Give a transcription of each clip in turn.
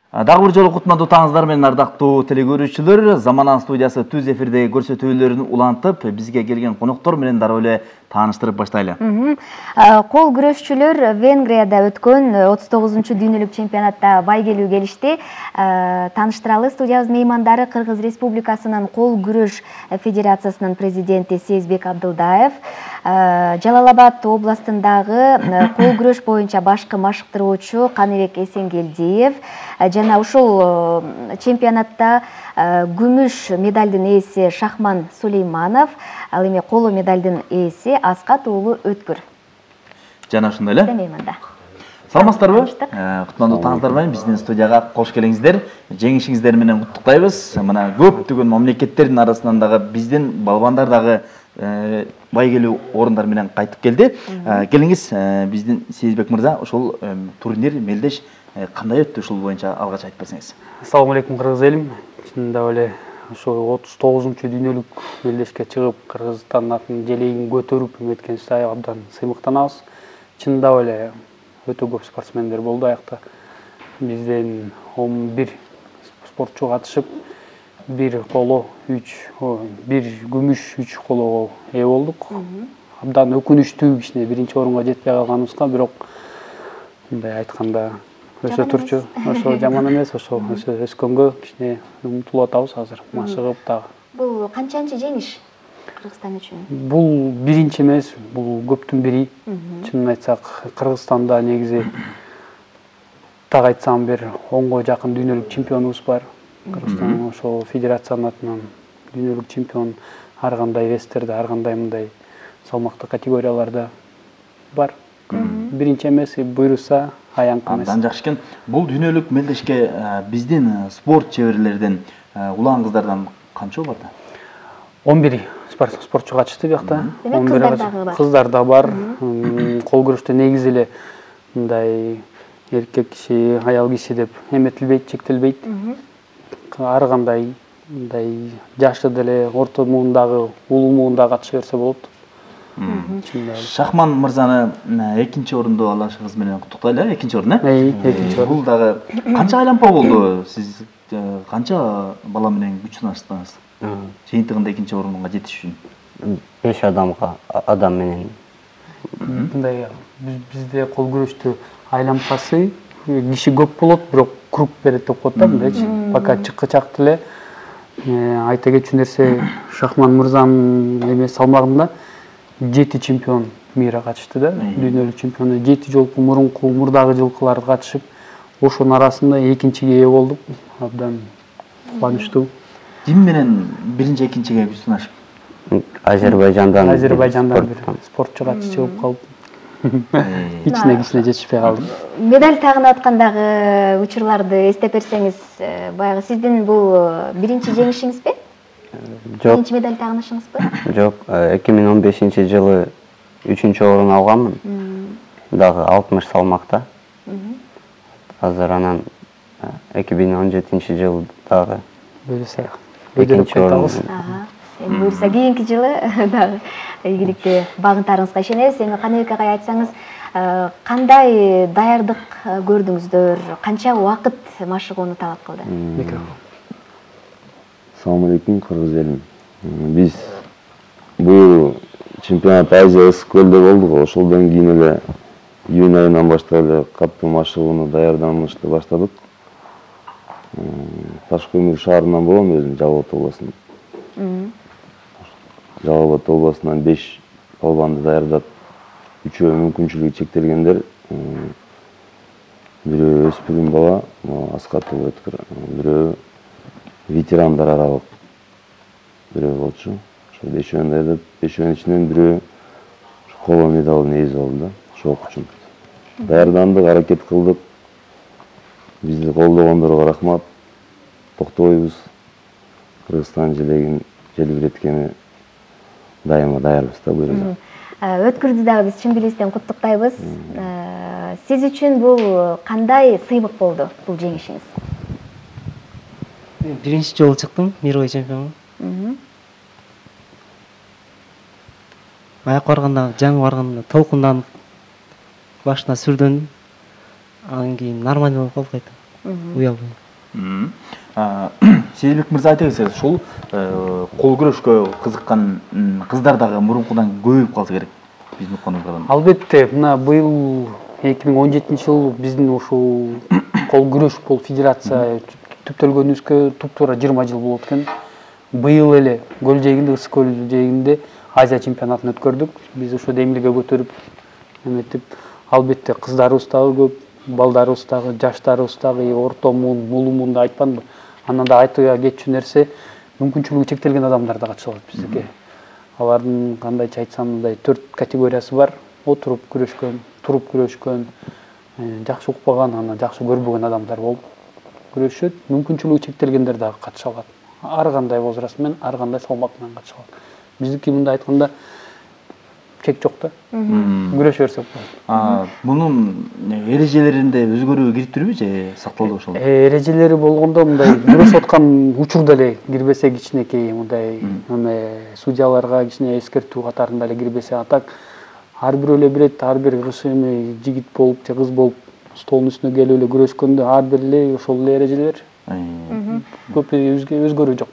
Дагы бир жолу кутмандуу таңыңыздар менен ардактуу телекөрүүчүлөр. Заманан студиясы түз эфирдеги көрсөтүүлөрүн улантып, бизге келген коноктор менен дароо эле тааныштырып баштайлы. Кол күрөшчүлөр Венгрияда өткөн 39-дүйнөлүк чемпионатта байгелүү келишти. Тааныштыралы, студиябыз меймандары Кыргыз Республикасынын кол күрөш федерациясынын президенти Сезбек Абдылдаев, Жалал-Абад областындагы кол күрөш боюнча башкы машыктыруучу Каныбек Эсенгелдиев жана ушул чемпионатта күмүш медалдын ээси Шахман Сулейманов, ал эми коло медалдын ээси Аскат уулу Өткүр. Жана ушундай эле. Мейманда. Саламатсыздарбы? Кутмандуу таңыңыздар менен биздин студияга кош келиңиздер. Жеңишиңиздер менен куттуктайбыз. Мына көптөгөн мамлекеттердин арасынан дагы биздин балбандар дагы байгелүү орундар менен кайтып келди. Келиңиз, биздин Сезбек мырза, ушул турнир мелдеш кандай өттү, ушул боюнча алгач айтып берсеңиз. Ассаламу алейкум, кыргыз элим. Чындап эле ошо 39-дүйнөлүк мелдешке чыгып, Кыргызстандын атын желегин көтөрүп өткөнүбүздө абдан сыймыктанабыз. Чындап эле өтө көп спортсмендер болду аякта. Бизден 11 спортчу катышып, бир коло, бир күмүш, 3 колого ээ болдук. Абдан өкүнүчтүү, кичине биринчи орунга жетпей калганыбызга, бирок мындай айтканда өсө турчу, ошо жаман эмес, ошо өскөнгө кичине умтулуп атабыз азыр, машыгып дагы. Бул канчанчы жеңиш Кыргызстан үчүн? Бул биринчи эмес, бул көптүн бири. Чынын айтсак, Кыргызстанда негизи так айтсам бир 10го жакын дүйнөлүк чемпионубуз бар. Кыргызстан ошо федерациянын атынан дүйнөлүк чемпион ар кандай вестерде, ар кандай мындай салмактуу категорияларда бар. Биринчи эмес, буйруса аянкы эмес. Абдан жакшы экен. Бул дүйнөлүк мелдешке биздин спорт чеберлерден, улан кыздардан канча бар да? 11 спортчу катышты биякта. 11 кыздар да бар. Кол күрөштө негизи эле мындай эркек киши, аял киши деп эметилбейт, чектелбейт. Ар кандай мындай жашы деле, орто муундагы, улуу муунда катыша берсе болот. Шахман мырзаны экинчи орунду алышыңыз менен куттуктайлы. Экинчи орун, экинчи орун. Бул дагы канча айланпа болду? Сиз канча бала менен күч сынаштыңыз? Жыйынтыгында экинчи орунга жетиш үчүн? 5 адам менен. Мындай бизде кол күрөштө айланпасы киши көп болот, бирок круг берет деп коет да, мындайчы. Пока чыккычак деле айта кетчү нерсе, Шахман мырзанын эме салмагында 7 чемпион мира катышты да, дүйнөлүк чемпиону. 7 жолку мурдагы жылкылар катышып, ошонун арасында экинчиге ээ болдук. Абдан кубанычтуу. Ким менен биринчи, экинчиге күч сынашып? Азербайжандан бир спортчу катышы чыгып калып, кичине жетишпей калдым. Медаль тагынып аткандагы учурларды эстеп берсеңиз, баягы сиздин бул биринчи жеңишиңизби? Жок. Биринчи медаль тагынышыңызбы? Жок, 2015-жылы 3-чү орун алганмын. Дагы 60 салмакта. Азыр анан 2017-жылы дагы буюрса экинчи орун. Буюрса кийинки жылы дагы ийгиликти багынтарыңызга ишенебиз. Эми Каныбек агай айтсаңыз, кандай даярдык көрдүңүздөр? Канча убакыт машыгууну талап кылды? Assalamu alaikum, Kırgız elim. Biz bu чемпионат Азия ысык көлдө болдук. Ошолдон кийин эле июнь айынан баштап эле катуу машыгууну даярданышты баштадык. Ташкөмүр шаарынан болом өзүм, Жалал-Абад областынан. Жалал-Абад областынан 5 балбанды даярдап, 3-өө мүмкүнчүлүгү чектелгендер. Бирөө өспүрүм бала, Аскат Өткүр, бирөө ветерандар аралык бирөө болчу. Ошо 5-өөндү даярдап, 5-өөнүн ичинен бирөө коло медалдын ээси болду да, ошол үчүн. Даярдандык, аракет кылдык. Бизди колдогондорго рахмат. Токтобойбуз. Кыргызстан желегин желбиреткени дайыма даярбыз да буюрса. Өткүрдү дагы биз чын билистен куттуктайбыз. Сиз үчүн бул кандай сыймык болду, бул жеңишиңиз? Биринчи жолу чыктым, мировой чемпион. Аяк барганда, жаңы барганда толкунданып, башына сүрдөн, анан кийин нормально болуп калды кайта. уялбайм. Сейилбек мырза айта кетсеңиз, ушул кол күрөшкө кызыккан кыздар дагы мурункудан көбөйүп калса керек биздин укканыбыздан. Албетте, мына быйыл 2017-жыл биздин ушул кол күрөш бул федерация түптөлгөнүбүзгө туп-туура 20 жыл болот экен. Быйыл эле Көл жээгинде, Ысык көл жээгинде Азия чемпионатын өткөрдүк. Биз ошо демилге көтөрүп эметип, албетте кыздарыбыз дагы көп, балдарыбыз дагы, жаштарыбыз дагы, орто муун, мулуу муунду айтпанбы. Анан да айта кетчү нерсе, мүмкүнчүлүгү чектелген адамдар да катыша алат бизге. Алардын кандайча айтсам, мындай 4 категориясы бар. Отуруп күрөшкөн, туруп күрөшкөн, жакшы укпаган, анан жакшы көрбөгөн адамдар болуп күрөшөт. Мүмкүнчүлүгү чектелгендер дагы катыша алат. Ар кандай возраст менен, ар кандай салмак менен катыша алат. Биздики мындай айтканда чек жок да. Күрөшө берсек болот. Мунун эрежелеринде өзгөрүү кириптирби же сакталды ошол? Эрежелери болгондо мындай күрөшүп аткан учурда эле кирбесе кичинекей мындай судьяларга кичине эскертүү катарында эле кирбесе, атак ар бирөө эле билет, ар бир жигит болуп же кыз болуп столдун үстүнө келип эле күрөшкөндө ар бир эле ошол эле эрежелер көп өзгөрүү жок.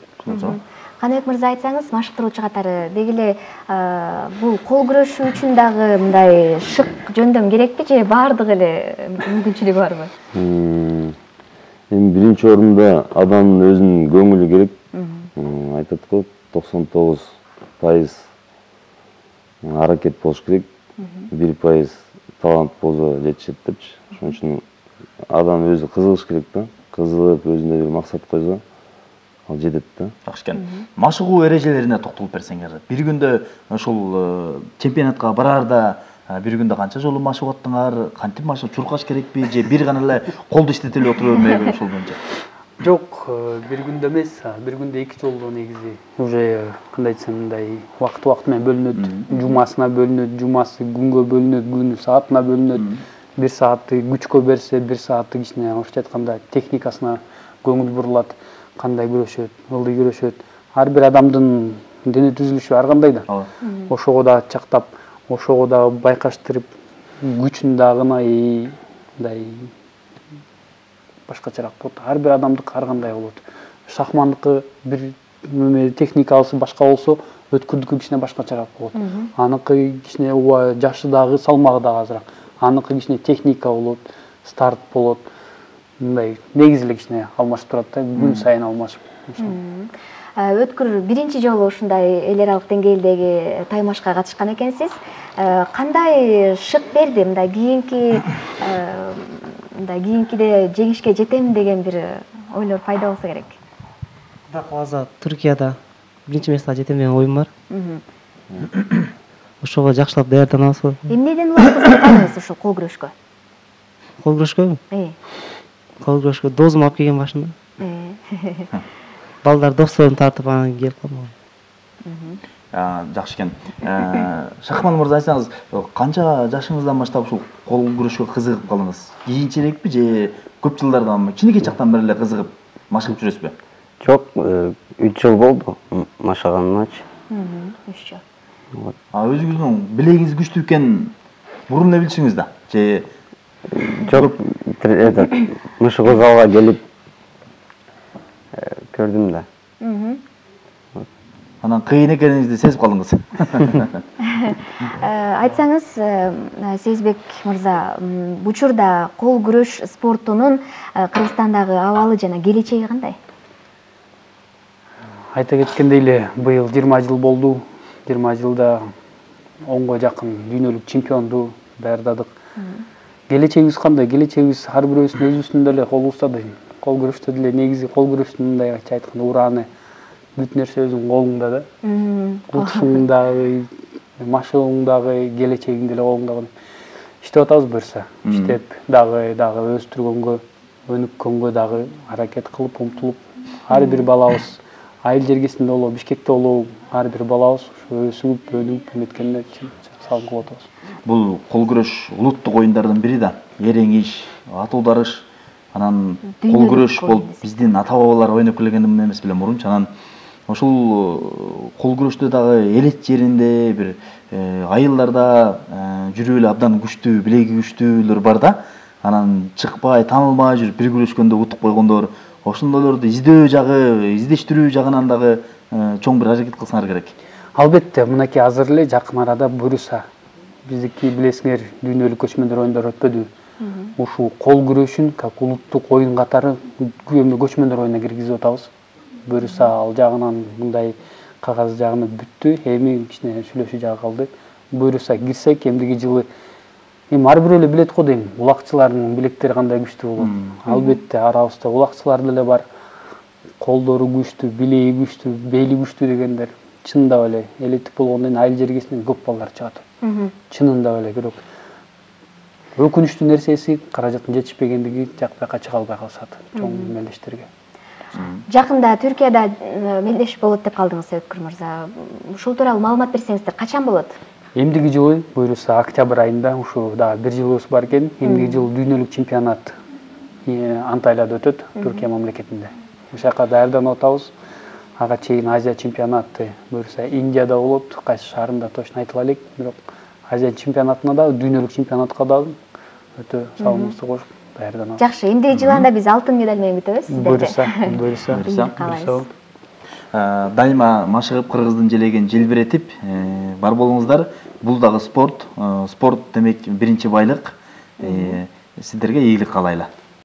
Каныбек мырза айтсаңыз, машыктыруучу катары деги эле бул кол күрөшүү үчүн дагы мындай шык жөндөм керекпи же баардык эле мүмкүнчүлүгү барбы? Эми биринчи орунда адамдын өзүнүн көңүлү керек. Айтат го 99% аракет болуш керек. 1% талант болсо жетишет депчи. Ошон үчүн адам өзү кызыгыш керек да. Кызыгып өзүнө бир максат койсо, ал жетет да. Жакшы экен. Машыгуу эрежелерине токтолуп берсеңер. Бир күндө ошол чемпионатка бараарда бир күндө канча жолу машыгып аттыңар? Кантип машыгып чуркаш керекпи же бир гана эле колду иштете эле отура бермейби ошол боюнча? Жок, бир күндө эмес, бир күндө 2 жолу негизи уже кандай десем мындай убакыт менен бөлүнөт. Жумасына бөлүнөт, жумасы күнгө бөлүнөт, күнү саатына бөлүнөт. 1 саатты күчкө берсе, 1 саатты кичине орусча айтканда техникасына көңүл бурулат. Кандай күрөшөт, ылдый күрөшөт. Ар бир адамдын дене түзүлүшү ар кандай да. Ошого да чактап, ошого да байкаштырып, күчүн дагы мындай башкачараак болот. Ар бир адамдык ар кандай болот. Шахмандыкы бир техникасы башка болсо, өткүрдүкү кичине башкачараак болот. Аныкы кичине жашы дагы, салмагы дагы азыраак. Аныкы кичине техника болот, старт болот. Мындай негизи эле кичине алмашып турат да, күн сайын алмашып. Өткүр биринчи жолу ушундай эл аралык деңгээлдеги таймашка катышкан экенсиз. Кандай шык берди? Мындай кийинкиде жеңишке жетем деген бир ойлор пайда болсо керек. Кудай кааласа Түркияда биринчи место жетем деген оюм бар. Ошого жакшылап даярданабыз. Эмнеден улам кызыккандыңыз ушул кол күрөшкө? Кол күрөшкөбү? Кол күрөшкө дозум алып келген башында. Балдар досторун тартып анан келип калдым. Жакшы экен. Шахман мырза айтсаңыз, канча жашыңыздан баштап ушул кол күрөшкө кызыгып калдыңыз? Кийинчерээкпи же көп жылдардан кичинекей чактан бери эле кызыгып машыгып жүрөсүзбү? Жок, 3 жыл болду машыганымачы. 3 жыл. Өзүңүздүн билегиңиз күчтүү экен бурун эле билчиңиз да? Же жок, мышыгуу залга келип көрдүм да. Анан кыйын экениңизди сезип калдыңыз. Айтсаңыз, Сейизбек мырза, учурда кол күрөш спортунун Кыргызстандагы абалы жана келечеги кандай? Айта кеткендей эле, быйыл 20 жыл болду. 20 жылда 10го жакын дүйнөлүк чемпионду даярдадык. Келечегибиз кандай? Келечегибиз ар бирөөбүздүн өзүбүздүн деле колубузда да. Кол күрөштө деле негизи кол күрөштүн мындай айтканда ураны бүт нерсе өзүңдүн колуңда да. Утушуң дагы, машыгууң дагы, келечегиң деле колуңда. Иштеп атабыз буюрса. Иштеп дагы өстүргөнгө, өнүккөнгө дагы аракет кылып, умтулуп, ар бир балабыз айыл жергесинде болобу, Бишкекте болобу, ар бир балабыз өсүп, өнүп, эметкенде салым кылып атабыз. Бул кол күрөш улуттук оюндардын бири да. Эреңиш, атуу дарыш, анан кол күрөш болуп биздин ата-бабалар ойноп келген эмес беле мурунчу. Анан ошол кол күрөштө дагы элет жеринде бир айылдарда жүрүп эле абдан күчтүү, билеги күчтүүлөр бар да. анан чыкпай, таанылбай жүрүп бир күрөшкөндө утуп койгондор, ошондойлорду издөө жагы, издештирүү жагынан дагы чоң бир аракет кылсаңар керек. Албетте, мынакей азыр эле жакын арада буюрса, биздики билесиңер дүйнөлүк көчмөндөр оюндары өтпөдү. Ушул кол күрөшүн как улуттук оюн катары көчмөндөр оюнуна киргизип атабыз. Буюрса ал жагынан мындай кагаз жагынан бүттү, эми кичине сүйлөшүү жагы калды. Буюрса кирсек, эмдиги жылы ар бирөө эле билет го дейм, улакчылардын билектери кандай күчтүү болот. Албетте, арабызда улакчылар деле бар. Колдору күчтүү, билеги күчтүү, бели күчтүү дегендер. Чынында эле элиттик болгондон кийин айыл жергесинен көп балдар чыгат. Чынында эле, бирок өкүнүчтүү нерсеси каражаттын жетишпегендиги жакпайка чыга албай калышат чоң мелдештерге. Жакында Түркияда мелдеш болот деп калдыңыз, Өткүр мырза. Ушул тууралуу маалымат берсеңиздер, качан болот? Эмдиги жылы буюрса октябрь айында, ушу дагы бир жылыбыз бар экен, эмдиги жылы дүйнөлүк чемпионат Анталияда өтөт, Түркия мамлекетинде. Ошол жака даярданып атабыз. Ага чейин Азия чемпионаты буюрса Индияда болот, кайсы шаарында точно айтыла элек, бирок Азия чемпионатына да, дүйнөлүк чемпионатка да өтө салымыбызды кошуп даярданабыз. Жакшы, эмдиги жылы анда биз алтын медаль менен күтөбүз сиздерди. Буюрса. Дайыма машыгып кыргыздын желегин желбиретип бар болуңуздар. Бул дагы спорт. Спорт демек биринчи байлык. Сиздерге ийгилик каалайлы.